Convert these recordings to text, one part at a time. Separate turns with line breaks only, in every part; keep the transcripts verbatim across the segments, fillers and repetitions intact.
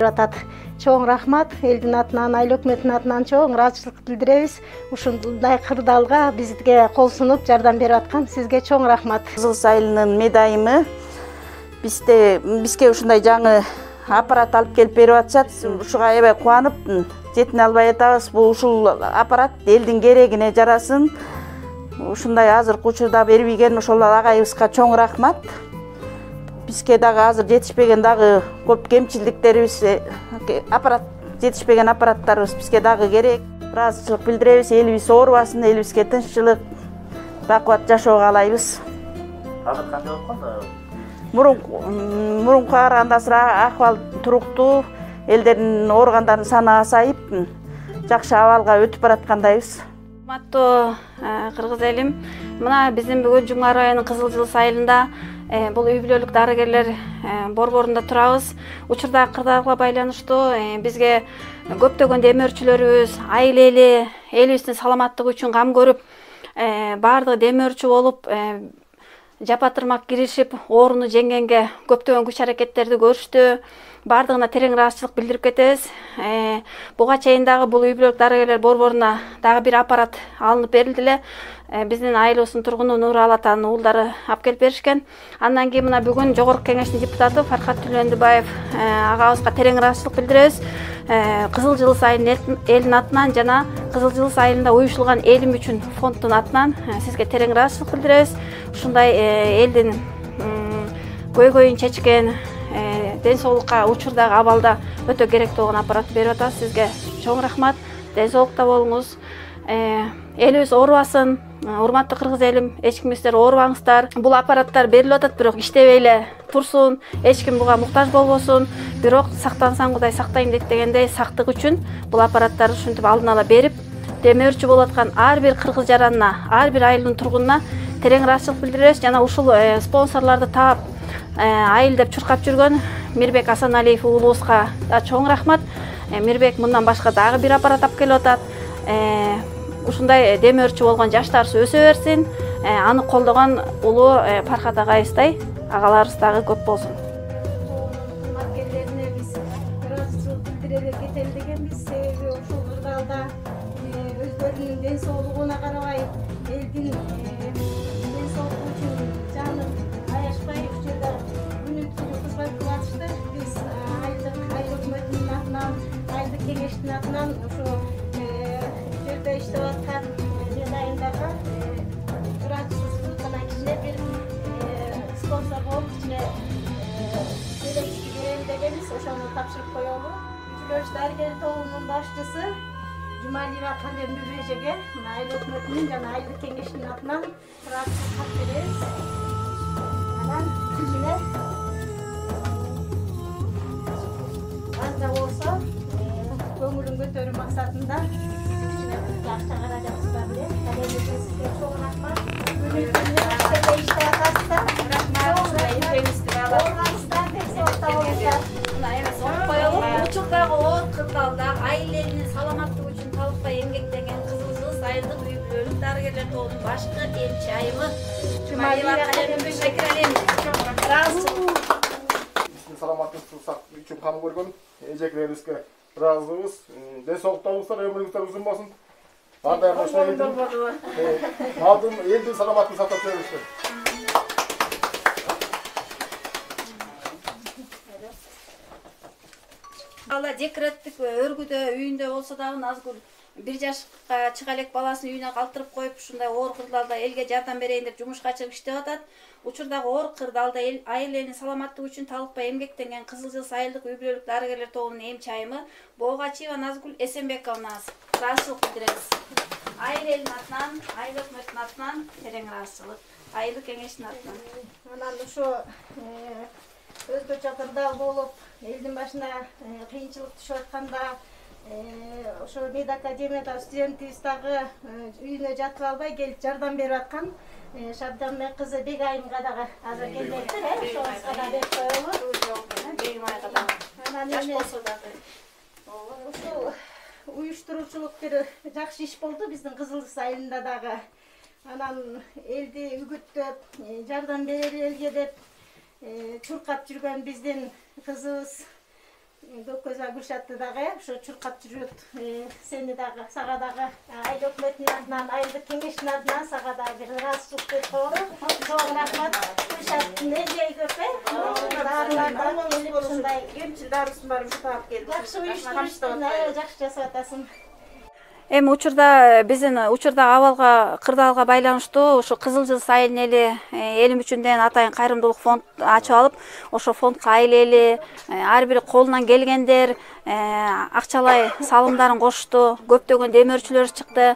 атат. Чоң рахмат, элдин атынан, айыл өкмөтүнүн атынан чоң ыраазычылык билдиребиз. Ушундай кырдаалга бизге кол сунуп жардам берип аткан сизге чоң рахмат.
Кызыл айылынын медайымы бизде бизге ушундай жаңы аппарат алып келип берип атышат. Ушуга аябай кубанып, жетине албай атабыз. Бул ушул аппарат элдин керегине жарасын. Ушундай азыркы учурда бербеген ошол агайыбызга чоң рахмат. Бизге дагы азыр жетишпеген дагы көп кемчилдиктерибиз, аппарат жетишпеген аппараттарыбыз бизге дагы керек. Ыраазычылык билдиребиз, элибиз оорубасын, элибизге тынччылык, бакубат жашоо каалайбыз.
Азыр кандай болуп калды?
Мурунку мурункуга караганда азыр акыбал туруктуу, элдердин ооругандарынын саны азайып, жакшы абалга өтүп бараткандайбыз.
Урматтуу кыргыз элим, мына биздин бүгүн Жумгар районунун Кызыл Жылыс айылында бул үй бүлөлүк дарыгерлер борборунда турабыз. Учурдагы кырдаалга байланыштуу бизге көптөгөн демөөрчүлөрүбүз, айыл эли, элибиздин саламаттыгы үчүн кам көрүп, баардыгы демөөрчү болуп, жапатырмак киришип, ооруну жеңгенге көптөгөн күч аракеттерди көрүштү. Бардыгына терең ыраазычылык билдирип кетебиз. Буга чейин дагы бул үй бүлөлүк дарыгерлер борборуна дагы бир аппарат алынып берилди эле. Биздин айылыбыздын тургуну Нурал атанын уулдары алып келип беришкен. Андан кийин мына бүгүн Жогорку Кеңештин депутаты Фархат Түлөндүбаев агабызга терең ыраазычылык билдиребиз. Кызыл Жылыс айылынын элдин атынан жана Кызыл Жылыс айылында уюшулган элим үчүн фонддун атынан сизге терең ыраазычылык билдиребиз. Ушундай элдин көйгөйүн чечкен, ден соолукка учурдагы абалда өтө керектүү болгон аппаратты берип атабыз. Сизге чоң рахмат. Ден соолукта болуңуз. Элибиз оорубасын. Урматтуу кыргыз элим, эч кимиңиздер оорубаңыздар. Бул аппараттар берилип атат, бирок иштебей эле турсун. Эч ким буга муктаж болбосун. Бирок сактансаң Кудай сактайм дейт дегендей, сактык үчүн бул аппараттарды ушинтип алдын ала берип, демөөрчү болуп аткан ар бир кыргыз жаранына, ар бир айылдын тургунуна терең ыраазычылык билдиребиз. Жана ушул спонсорлорду таап, айыл деп чуркап жүргөн Мирбек Асаналиев уулубузга да чоң рахмат. Мирбек мындан башка дагы бир аппарат алып келип атат. Ушундай демөөрчү болгон жаштарыбыз өсө берсин. Аны колдогон улуу Фархат агайыбыздай агаларыбыз дагы көп болсун.
Кызматкерлерине биз ыраазычылык билдире кетели дегенбиз. Себеби ушул кырдаалда өздөрүнүн ден соолугуна карабай, элдин ден соолугу үчүн жанын аяшпай ушул жерде күнү түнү кызмат кылып атышты. Биз айылдык айыл өкмөтүнүн атынан, айылдык кеңештин атынан ушул жерде иштеп аткан медайындагы ыраазычылык жана кичине бир спонсор болуп кичине желекчи берели дегенбиз. Ошону тапшырып коелу. Күчүлөш дарыгер тобунун башчысы Жумалиева Калембек эжеге айыл өкмөтүнүн жана айылдык кеңештин атынан ыраазычылык кат беребиз. Анан кичине азда болсо көңүлүн көтөрүү максатында кичине акча каражатыбыз бар эле. Калембекке сизге чоң рахмат. Күнү түнү иштеп иштеп атасыздар. Рахмат. Эжеңизди аласыздар. Ден соолукта болуңуздар.
Мына эмес окуп коелу. Учурдагы оор кырдаалда айыл элинин саламаттыгы үчүн талыкпай эмгектенген Кызыл Жылыс айылдык үй бүлөлүк дарыгерлер тобунун башкы эмчи айымы Жумалиева Калембек Шакиралиевна ыраазычылык.
Биздин саламаттыгыбызды сактоо үчүн кам көргөн эжекелерибизге ыраазыбыз. Ден соолукта болуңуздар, өмүрүңүздөр узун болсун. Андай ошо элдин алдын элдин саламаттыгын сактап жүрүңүздөр.
Ала декреттик өргүдө үйүндө болсо дагы Назгүл бир жашка чыга элек баласын үйүнө калтырып коюп, ушундай оор кырдаалда элге жардам берейин деп жумушка чыгып иштеп атат. Учурдагы оор кырдаалда айыл элинин саламаттыгы үчүн талыкпай эмгектенген Кызыл Жылыс айылдык үй бүлөлүк дарыгерлер тобунун эмчи айымы Боогачиева Назгүл Эсенбековнага ыраазычылык билдиребиз. Айыл элинин атынан, айыл өкмөтүнүн атынан терең ыраазычылык, айылдык кеңештин атынан.
Анан ошо өзгөчө кырдаал болуп, элдин башына кыйынчылык түшүп атканда, ошо медакадемияда студентибиз дагы үйүнө жатып албай келип жардам берип аткан Шабданбек кызы Бегайымга дагы азыр келбептир, э? Ошоңузга да берип коелу.
Бегим айга дагы.
Анан
Жаш болсо дагы.
Ушул уюштуруучулук бир жакшы иш болду биздин Кызыл Жылыс айылында дагы. Анан элди үгүттөп, жардам берели элге деп чуркап жүргөн биздин кызыбыз Көкөза Гүлшатты дагы ошо чуркап жүрөт. Сени дагы, сага дагы айыл өкмөтүнүн атынан, айылдык кеңештин атынан сага дагы бир ыраазычылык көрсөтөм. Чоң рахмат. Гүлшаттын эжеги көп. Дарылардан келип ушундай
кемчил дарысын бар ушу таап келди.
жакшы уюштуруштун, жакшы жасап атасың.
Эми учурда биздин учурдагы абалга, кырдаалга байланыштуу ушу Кызыл Жылдыз айылынын эли элим үчүн деген атайын кайрымдуулук фонд ачып алып, ошо фондко айыл эли ар бир колунан келгендер акчалай салымдарын кошту, көптөгөн демөөрчүлөр чыкты.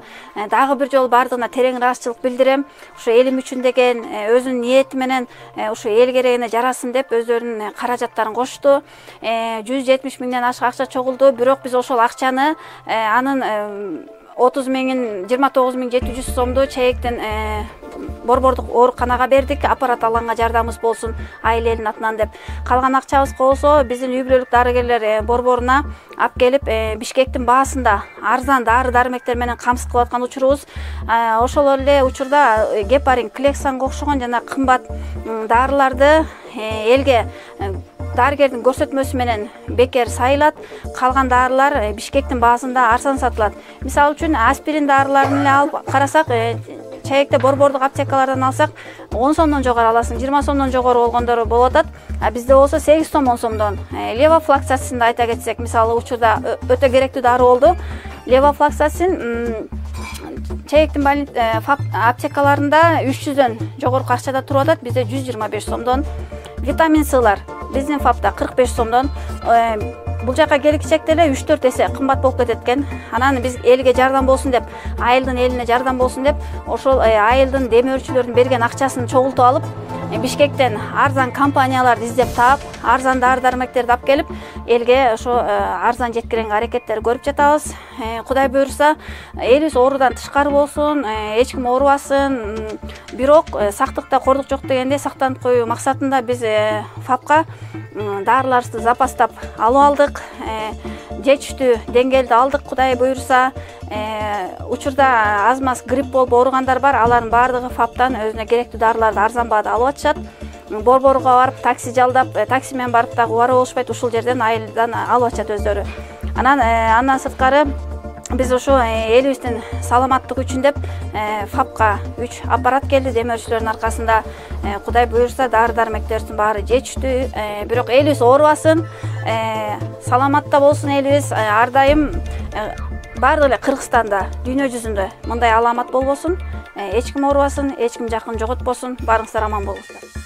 Дагы бир жолу бардыгына терең ыраазычылык билдирем. Ушу элим үчүн деген өзүнүн ниети менен ушу эл керегине жарасын деп өздөрүнүн каражаттарын кошту. жүз жетимиш миңден ашык акча чогулду, бирок биз ошол акчаны анын отуз миңин жыйырма тогуз миң жети жүз сомду чейектен Борбордук ооруканага бердик, аппарат алганга жардамыбыз болсун айыл элинин атынан деп. Калган акчабыз болсо биздин үй бүлөлүк дарыгерлер борборуна алып келип, Бишкектин баасында арзан дары дармектер менен камсыз кылып аткан учурубуз. Ошол эле учурда гепарин, Клексанга окшогон жана кымбат дарыларды элге дарыгердин көрсөтмөсү менен бекер сайылат. Калган дарылар Бишкектин баасында арзан сатылат. Мисалы үчүн аспирин дарыларын эле алып карасак, чейекте борбордук аптекалардан алсак он сомдон жогору аласың, жыйырма сомдон жогору болгондору болуп атат. А бизде болсо сегиз сом он сомдон. Левофлоксацинди айта кетсек, мисалы учурда өтө керектүү дары болду. Левофлоксацин чейектин аптекаларында үч жүздөн жогорку акчада туруп атат, бизде жүз жыйырма беш сомдон. Витамин Сылар биздин фапта кырк беш сомдон. Бул жака келгичекте эле үч төрт эсе кымбат болуп кетет экен. Анан биз элге жардам болсун деп, айылдын элине жардам болсун деп, ошол айылдын демөөрчүлөрдүн берген акчасын чогултуп алып, Бишкектен арзан компанияларды издеп таап, арзан дары дармектерди алып келип, элге ошо арзан жеткиренге аракеттер көрүп жатабыз. Кудай буйрса, элибиз оорудан тышкары болсун, эч ким оорубасын. Бирок сактыкта кордук жок дегендей сактанып коюу максатында биз фапка дарыларды запастап алып алдык. Жетиштүү деңгээлде алдык, Кудай буйрса. Учурда аз маз грипп болуп ооругандар бар, алардын баардыгы фаптан өзүнө керектүү дарыларды арзан баада алып атышат. Борборго барып, такси жалдап, такси менен барып дагы убара болушпайт, ушул жерден айылдан алып атышат өздөрү. Анан андан сырткары биз ошо элибиздин саламаттыгы үчүн деп фапка үч аппарат келди демөөрчүлөрдүн аркасында. Кудай буйрса, дары дармектердин баары жетиштүү, бирок элибиз оорубасын, саламатта болсун элибиз. Ар дайым баардык эле Кыргызстанда, дүйнө жүзүндө мындай аламат болбосун, эч ким оорубасын, эч ким жакын жоготпосун, баарыңыздар аман болуңуздар.